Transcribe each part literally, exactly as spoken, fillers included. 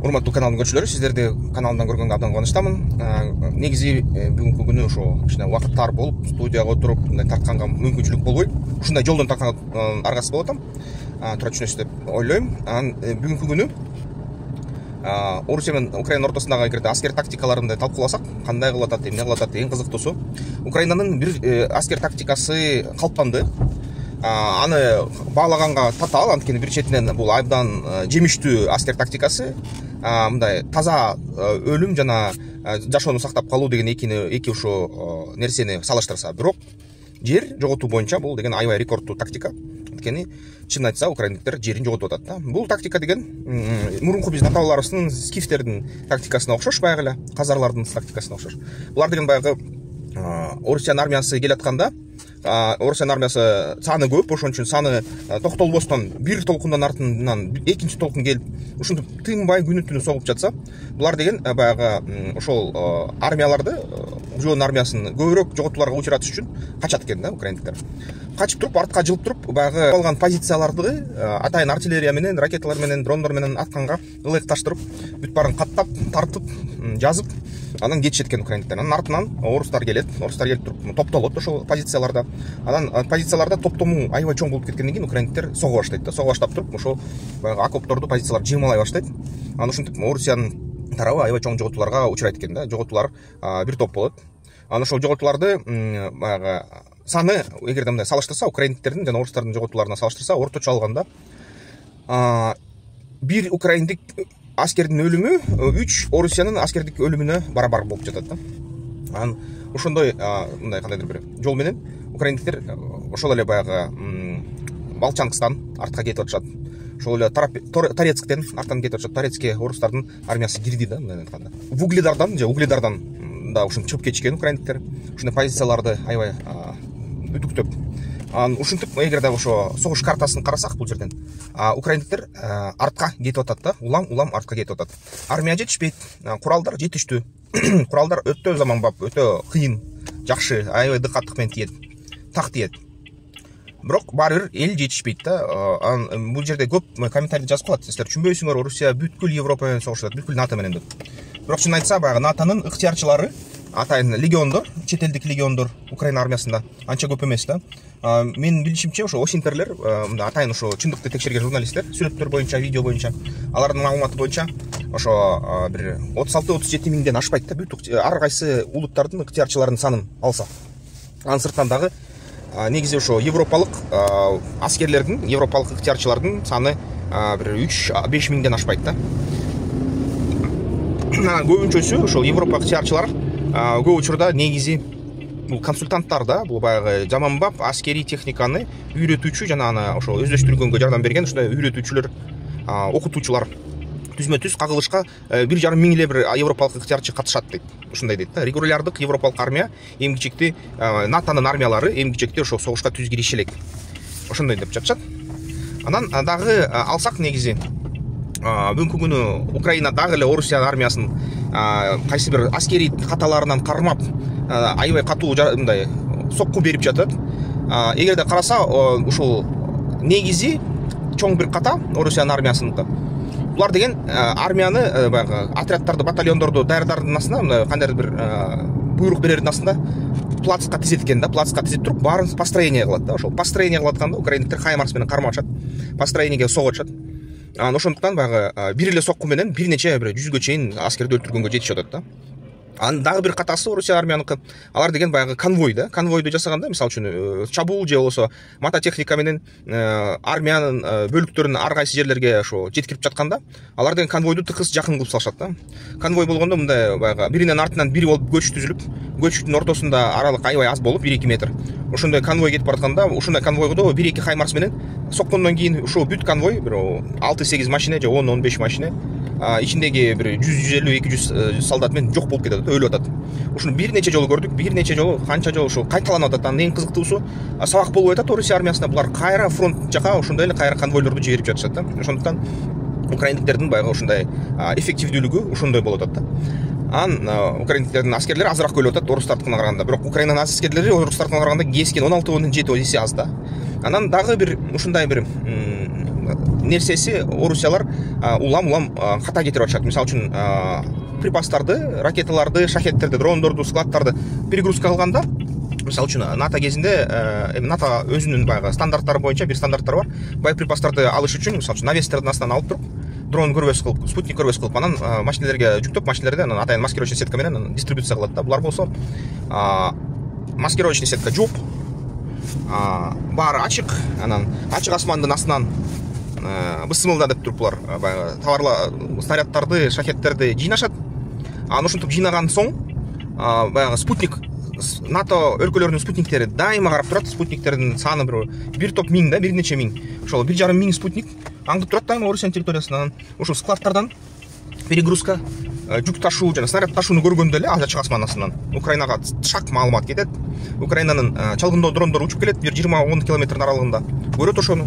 Урматтуу каналдын көрүүчүлөрү, сиздерди каналымдан көргөнгө абдан кубанычтамын. Негизи бүгүнкү күнү ошо кичине убакыт тар болуп, студияга отуруп мындай тартканга мүмкүнчүлүк болбойт. Ушундай жолдон тартканга аргасыз болуп атам. Туура түшүнөсүз деп ойлойм. Анан бүгүнкү күнү Орусия менен Украина ортосундагы эгерде аскер тактикаларын талкууласак, кандай кылып атат, эмне кылып атат, эң кызыктуусу Украинанын бир аскер тактикасы калыптанды. Аны баалаганга татаал, анткени бир четинен бул абдан жемиштүү аскер тактикасы, мындай таза өлүм жана жашоону сактап калуу деген экини эки ушул нерсени салыштырса, бирок жер жоготуу боюнча бул деген аябай рекордтуу тактика. Анткени чынын айтса, украиндиктер жерин жоготуп атат да. Бул тактика деген мурунку биздин ата-бабаларыбыздын скифтердин тактикасына окшош, баягы эле казарлардын тактикасына окшош. Булар деген баягы Орусиянын армиясы келатканда, Орусиянын армиясы саны көп, ошон үчүн саны токтолбостон бир толкундан артынан экинчи толкун келип, ушинтип тынбай күнү-түнү согуп жатса, булар деген баягы ошол армияларды, жоон армиясын көбүрөөк жоготууларга учуратыш үчүн качат экен да украиндиктер. Качып туруп, артка жылып туруп, баягы алган позицияларды атайын артиллерия менен, ракеталар менен, дрондор менен атканга ылайыкташтырып, бүт баарын каттап, тартып, жазып, анан кетишет экен украиндиктер. Анан артынан орустар келет, орустар келип туруп топтолот ошол позицияларда. Анан позицияларда топтому аябай чоң болуп кеткенден кийин украиндиктер сого баштайт да. Сого баштап туруп, ошол баягы окопторду, позицияларды жыймалай баштайт. Анан ушинтип Орусиянын тарабы аябай чоң жоготууларга учурайт экен да. Жоготуулар бир топ болот. Анан ошол жоготууларды баягы саны эгерде мындай салыштырса, украиндиктердин жана орустардын жоготууларына салыштырса, орточо алганда бир украиндик аскердин өлүмү үч Орусиянын аскердик өлүмүнө барабар болуп жатат да. Анан ошондой мындай кандайдыр бир жол менен украиндиктер ошол эле баягы Волчанскстан артка кетип атышат. Ошол эле Торецктен арттан кетип атышат. Торецкке орустардын армиясы кирди да, мындай айтканда. Вугледардан же Угледардан да ушинтип чыгып кетишкен украиндиктер. Ушундай позицияларды аябай үтүктөп. Анан ушинтип эгерде ошо согуш картасын карасак, бул жерден украиндиктер артка кетип атат да, улам-улам артка кетип атат. Армия жетишпейт, куралдар жетиштүү. Куралдар өтө заманбап, өтө кыйын, жакшы, аябай дыкаттык менен тиет, так тиет. Бирок баары бир эл жетишпейт да. Анан бул жерде көп комментарий жазып калат. Силер түшүнбөйсүңөр, Орусия бүткүл Европа менен согушат, бүткүл НАТО менен деп. Бирок чынын айтса, баягы НАТОнун ыктыярчылары, атайын легиондор, чет элдик легиондор Украина армиясында анча көп эмес да. Менин билишимче, ошо осинтерлер, мындай атайын ошо чындыкты текшерген журналисттер, сүрөттөр боюнча, видео боюнча, алардын маалыматы боюнча ошо бир отуз алты отуз жети миңден ашпайт да, бүт ар кайсы улуттардын ыктыярчыларынын санын алса. Анын сыртынан дагы негизи ошо европалык аскерлердин, европалык ыктыярчылардын саны бир үч беш миңден ашпайт да. Көбүнчөсү ошол европа ыктыярчылар көп учурда негизи бул консультанттар да, бул баягы заманбап аскерий техниканы үйрөтүүчү жана аны ошо өздөштүргөнгө жардам берген ушундай үйрөтүүчүлөр, окутуучулар түзмө түз кагылышка бир жарым миң эле бир европалык ыктыярчы катышат дейт. Ушундай дейт да. Регулярдык европалык армия, эң кичикти НАТОнун армиялары, эң кичикти ошо согушка түз кириши элек. Ошондой деп жатышат. Анан дагы алсак негизи бүгүнкү күнү Украина дагы эле Орусия армиясын кайсы бир аскерий каталарынан кармап аябай катуу мындай сокку берип жатат. Эгерде караса, ушул негизи чоң бир ката Орусиянын армиясында. Булар деген армияны баягы отряддарды, батальондорду даярдардын астында, кандайдыр бир буйрук берердин астында плацка тизет экен да, плацка тизип туруп, баарын построение кылат да. Ошол построение кылып атканда украиндиктер хаймарс менен кармап атышат, построениеге согуп атышат. Анан ошондуктан баягы бир эле сокку менен бир нече бир жүзгө чейин аскерди өлтүргөнгө жетишип атат да. Анын дагы бир катасы Орусия армияныкы. Алар деген баягы конвой да. Конвойду жасаганда, мисалы үчүн, чабуул же болбосо мототехника менен армиянын бөлүктөрүн ар кайсы жерлерге ошо жеткирип жатканда, алар деген конвойду тыкыз жакын кылып салышат да. Конвой болгондо мындай баягы биринен артынан бири болуп көч түзүлүп, көчтүн ортосунда аралык аябай аз болуп бир эки метр. Ошондой конвой кетип баратканда, ушундай конвойдо бир эки хаймарс менен соккондон кийин ушул бүт конвой бир алты сегиз машина же он он беш машина ичиндеги бир жүз жүз элүү эки жүз солдат менен жок болуп кетет, өлүп атат. Ушуну бир нече жолу көрдүк, бир нече жолу, канча жолу ушул кайталанып атат. Анын эң кызыктуусу, сабак болуп атат Орусия армиясына. Булар кайра фронт жака ошондой эле кайра конвойлорду жиберип жатышат да. Ошондуктан украиндиктердин баягы ушундай эффективдүүлүгү ошондой болуп атат да. Анан украиндиктердин аскерлери азыраак өлүп атат орустардыкына караганда. Бирок Украинанын аскерлери орустардыкына караганда кескен он алты он жети эсе аз да. Анан дагы бир ушундай бир нерсеси орусиялар улам улам ката кетирип атышат. Мисалы үчүн припастарды, ракеталарды, шахеттерди, дрондорду, складдарды перегрузка кылганда, мисалы үчүн НАТО кезинде эми НАТО өзүнүн баягы стандарттары боюнча бир стандарттары бар. Боеприпастарды алыш үчүн мисалы үчүн навестердин астынан алып туруп, дрон көрбөс кылып, спутник көрбөс кылып, анан машинелерге жүктөп, машинелерде анан атайын маскировочный сетка менен дистрибуция кылат да. Булар болсо маскировочный сетка жок, баары ачык, анан ачык асмандын астынан бысымылда деп туруп булар баягы товарлар, снаряддарды, шахеттерди жыйнашат. Анан ушинтип жыйнаган соң баягы спутник, НАТО өлкөлөрүнүн спутниктери дайыма карап турат. Спутниктердин саны бир бир топ миң да, бир нече миң. Ошол бир жарым миң спутник аңдып турат дайыма Орусиянын территориясынан. Ушул складдардан перегрузка, жүк ташуу жана снаряд ташууну көргөндө эле ачык асман астынан Украинага шак маалымат кетет. Украинанын чалгындоо дрондору учуп келет, бир жыйырма он километрдин аралыгында көрөт ошону.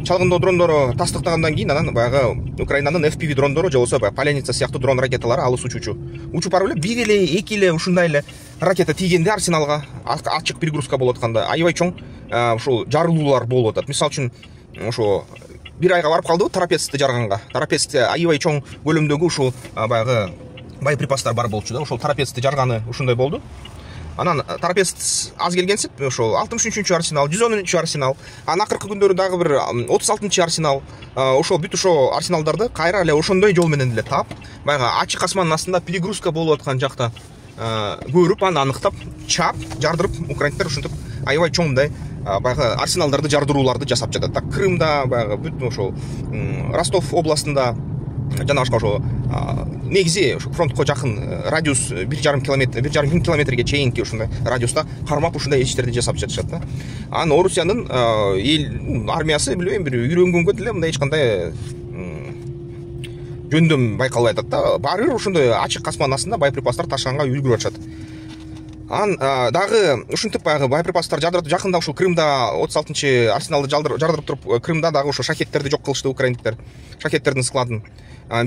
Чалгындоо дрондору тастыктагандан кийин анан баягы Украинанын эф пи ви дрондору же болбосо Поляница сыяктуу дрон ракеталары алыс учуучу учуп барып эле бир эле эки эле ушундай эле ракета тийгенде арсеналга ачык перегрузка болуп атканда аябай чоң ушул жарылуулар болуп атат. Мисалы үчүн ошо бир айга барып калдыбы Тарапецти жарганга. Тарапецте аябай чоң көлөмдөгү ушул баягы боеприпастар бар болчу да. Ошол Тарапецти жарганы ушундай болду. Анан Тарапец аз келгенсип, ошол алтымыш үчүнчү арсенал, жүз онунчу арсенал, анан акыркы күндөрү дагы бир отуз алтынчы арсенал, ошол бүт ошо арсеналдарды кайра эле ошондой жол менен эле таап, баягы ачык асмандын астында перегрузка болуп аткан жакта көрүп, аны аныктап, чаап, жардырып, украинцтер ушинтип аябай чоң мындай баягы арсеналдарды жардырууларды жасап жатат. Так Крымда, баягы бүт ошол Ростов областында жана башка ошо негизи ошо фронтко жакын радиус бир жарым километр, бир жарым миң километрге чейинки ушундай радиуста кармап ушундай иштерди жасап жатышат да. Анан Орусиянын эл армиясы билбейм бир үйрөнгөнгө деле мындай эч кандай жөндөм байкалбай атат да. Баары бир ошондой ачык асман астында боеприпастар ташыганга үлгүрүп атышат. Анан дагы ушинтип баягы боеприпастар жардырып, жакында ушул Крымда отуз алтынчы арсеналды жардырып туруп, Крымда дагы ошо шахеттерди жок кылышты украиндиктер, шахеттердин складын.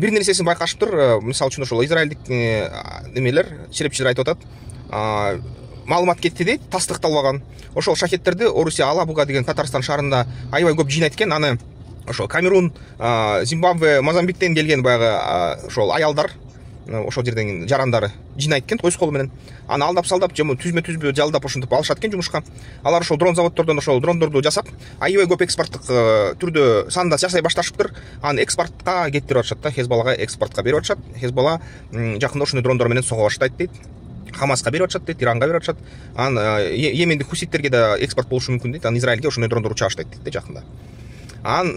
Бир нерсесин байкашыптыр, мисалы үчүн ошол израилдик немелер, черепчилер айтып атат, маалымат кетти дейт, тастыкталбаган. Ошол шахеттерди Орусия Алабуга деген Татарстан шаарында аябай көп жыйнайт экен. Аны ошол Камерун, Зимбабве, Мозамбиктен келген баягы ошол аялдар, ошол жерден жарандары жыйнайт экен койс колу менен. Аны алдап салдап, же түзмө түзбө жалдап ошентип алышат экен жумушка. Алар ошол дрон заводдордон ошол дрондорду жасап, аябай көп экспорттук түрдө санда жасай башташыптыр. Аны экспортко кетирип атышат да, Хезбаллага экспортко берип атышат. Хезбалла жакында ошондой дрондор менен сого баштайт дейт. Хамаска берип атышат дейт, Иранга берип атышат. Анан Йемендик хуситтерге да экспорт болушу мүмкүн дейт. Анан Израилге ошондой дрондор уча баштайт дейт жакында. Анан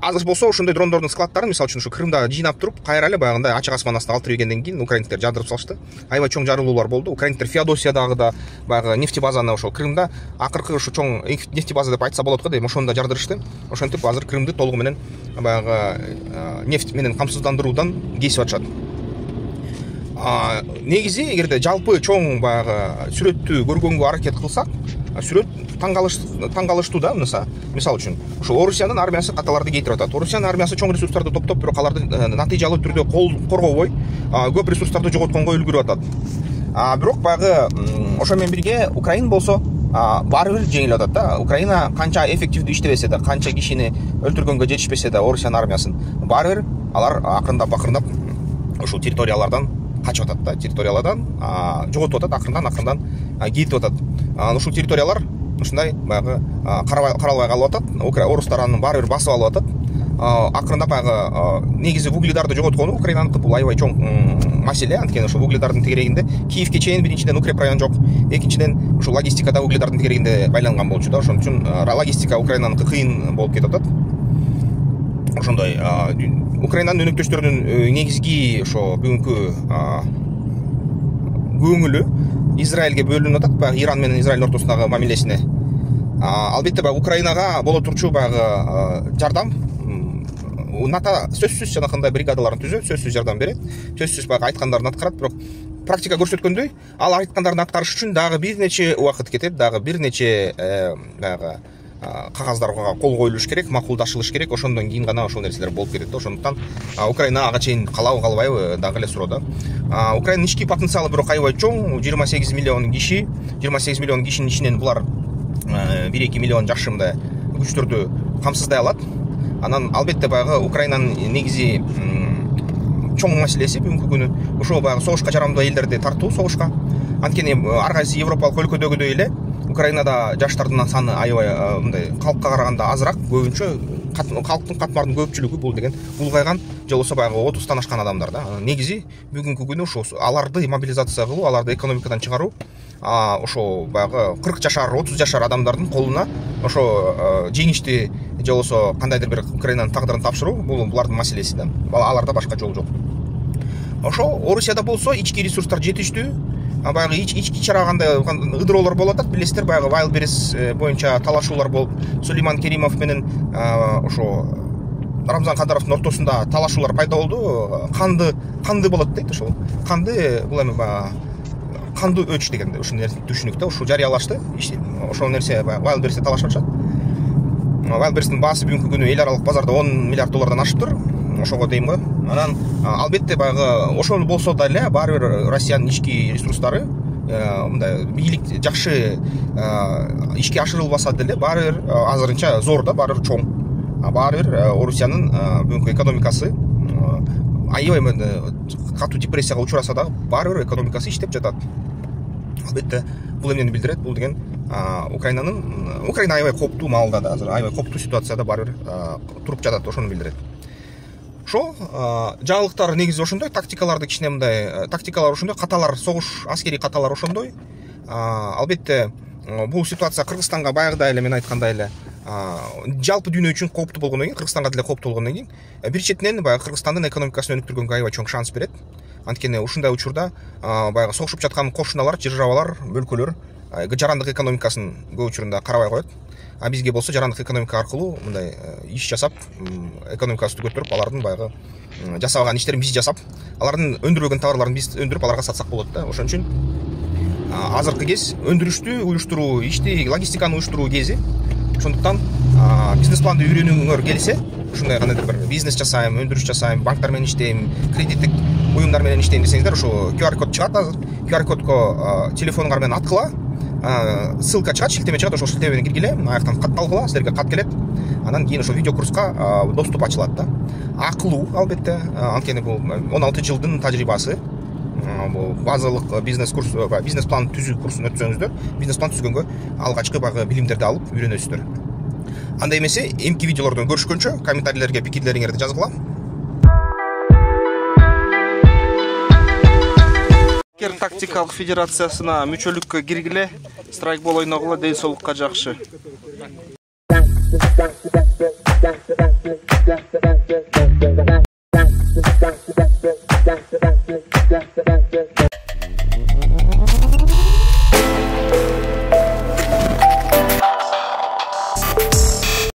азыр болсо ошондой дрондордун складдарын мисалы үчүн ушу Крымда жыйнап туруп, кайра эле баягындай ачык асман астына алып киргенден кийин украинцтер жардырып салышты. Аябай чоң жарылуулар болду. Украинцтер Феодосиядагы да баягы нефтебазаны ошол Крымда акыркы ушу чоң нефтебаза деп айтса болот го дейм, ошону да жардырышты. Ошентип азыр Крымды толугу менен баягы нефть менен камсыздандыруудан кесип атышат. Негизи эгерде жалпы чоң баягы сүрөттү көргөнгө аракет кылсак, сүрөт таң калыштуу да. Мисалы үчүн ушул Орусиянын армиясы каталарды кейтирип атат. Орусиянын армиясы чоң ресурстарды топтоп, бирок аларды натыйжалуу түрдө коргобой, көп ресурстарды жоготконго үлгүрүп атат. Бирок баягы ошо менен бирге Украина болсо баары бир жеңилип атат да. Украина канча эффективдүү иштебесе да, канча кишини өлтүргөнгө жетишпесе да Орусиянын армиясын, баары бир алар акырындап акырындап ушул территориялардан качып атат да, территориялардан жоготуп атат, акырындан акырындан кетип атат. Ушул территориялар ушундай баягы каралбай калып атат. Орустар аны баары бир басып алып атат. Акырындап баягы негизи угледарды жоготкону Украинаныкы бул аябай чоң маселе. Анткени ошол угледардын тегерегинде Киевке чейин биринчиден укреп район жок, экинчиден ушул логистикада угледардын тегерегинде байланган болчу да. Ошон үчүн логистика Украинаныкы кыйын болуп кетип атат. Ошондой Украинанын өнөктөштөрүнүн негизги ошо бүгүнкү көңүлү Израилге бөлүнүп атат, баягы Иран менен Израилдин ортосундагы мамилесине. Албетте баягы Украинага боло турчу баягы жардам, НАТО сөзсүз жанакындай бригадаларын түзөт, сөзсүз жардам берет, сөзсүз баягы айткандарын аткарат, бирок практика көрсөткөндөй, ал айткандарын аткарыш үчүн дагы бир нече убакыт кетет, дагы бир нече баягы кагаздарга кол коюлуш керек, макулдашылыш керек. Ошондон кийин гана ошол нерселер болуп кетет. Ошондуктан Украина ага чейин калабы калбайбы дагы эле суроо да. Украинанын ички потенциалы бирок аябай чоң, жыйырма сегиз миллион киши, жыйырма сегиз миллион кишинин ичинен булар бир эки миллион жакшы мындай күчтөрдү камсыздай алат. Анан албетте баягы Украинанын негизи чоң маселеси бүгүнкү күнү ошол баягы согушка жарамдуу элдерди тартуу согушка. Анткени ар кайсы европалык өлкөдөгүдөй эле Украинада жаштардын саны аябай мындай калкка караганда азыраак, көбүнчө калктын катмардын көпчүлүгү бул деген улгайган же болбосо баягы отуздан ашкан адамдар да. Негизи бүгүнкү күнү ошо аларды мобилизация кылуу, аларды экономикадан чыгаруу, ошо баягы кырк жашар, отуз жашар адамдардын колуна ошо жеңишти же болбосо кандайдыр бир Украинанын тагдырын тапшыруу, бул булардын маселеси да. Аларда башка жол жок. Ошо Орусияда болсо ички ресурстар жетиштүү. Баягы ички чара кандай ыдыроолор болуп атат, билесиздер, баягы Вайлберис боюнча талашуулар болуп, Сулейман Керимов менен ошо Рамзан Кадыровдун ортосунда талашуулар пайда болду. Канды канды болот дейт ошол. Канды бул эми кандуу өч дегенде ушул нерсе түшүнүк да, ушул жарыялашты. Ошол нерсе Вайлберисте талашып атышат. Вайлберистин баасы бүгүнкү күнү эл аралык базарда он миллиард доллардан ашыптыр. Ошого дейм го. Анан албетте баягы ошол болсо да эле баары бир Россиянын ички ресурстары мындай бийлик жакшы ишке ашырылбаса деле баары бир азырынча зор да, баары бир чоң. Баары бир Орусиянын бүгүнкү экономикасы аябай катуу депрессияга учураса дагы баары бир экономикасы иштеп жатат. Албетте бул эмнени билдирет? Бул деген Украинанын Украина аябай кооптуу маалда да, азыр аябай кооптуу ситуацияда баары бир туруп жатат, ошону билдирет. Ошо жаңылыктар негизи ошондой, тактикаларды кичине мындай тактикалар ошондой, каталар, согуш аскерий каталар ошондой. Албетте бул ситуация Кыргызстанга баягыдай эле мен айткандай эле жалпы дүйнө үчүн кооптуу болгондон кийин, Кыргызстанга деле кооптуу болгондон кийин, бир четинен баягы Кыргызстандын экономикасын өнүктүргөнгө аябай чоң шанс берет. Анткени ушундай учурда баягы согушуп жаткан кошуналар, державалар, өлкөлөр жарандык экономикасын көп учурунда карабай коет. А бизге болсо жарандык экономика аркылуу мындай иш жасап, экономикасын көтөрүп, алардын баягы жасаган иштерин биз жасап, алардын өндүрбөгөн товарларын биз өндүрүп аларга сатсак болот да. Ошон үчүн азыркы кез өндүрүштү уюштуруу, ишти, логистиканы уюштуруу кези. Ошондуктан бизнес планды үйрөнүүңөр келсе, ушундай кандайдыр бир бизнес жасайм, өндүрүш жасайм, банктар менен иштейм, кредиттик уюмдар менен иштейм десеңиздер, ошо ку ар код чыгат азыр. ку ар кодко телефонуңар менен аткыла, ссылка чыгат, шилтеме чыгат, ошол шилтеме менен киргиле, аяктан кат талкыла, силерге кат келет. Анан кийин ошо видео курска доступ ачылат да. Акылуу албетте, анткени бул он алты жылдын тажрыйбасы. Бул базалык бизнес курс, бизнес план түзүү курсун өтсөңүздөр, бизнес план түзгөнгө алгачкы баягы билимдерди алып үйрөнөсүздөр. Андай эмесе, эмки видеолордон көрүшкөнчө комментарийлерге пикирлериңерди жазгыла. Тактикалык федерациясына мүчөлүккө киргиле, страйкбол ойногула, ден соолукка жакшы.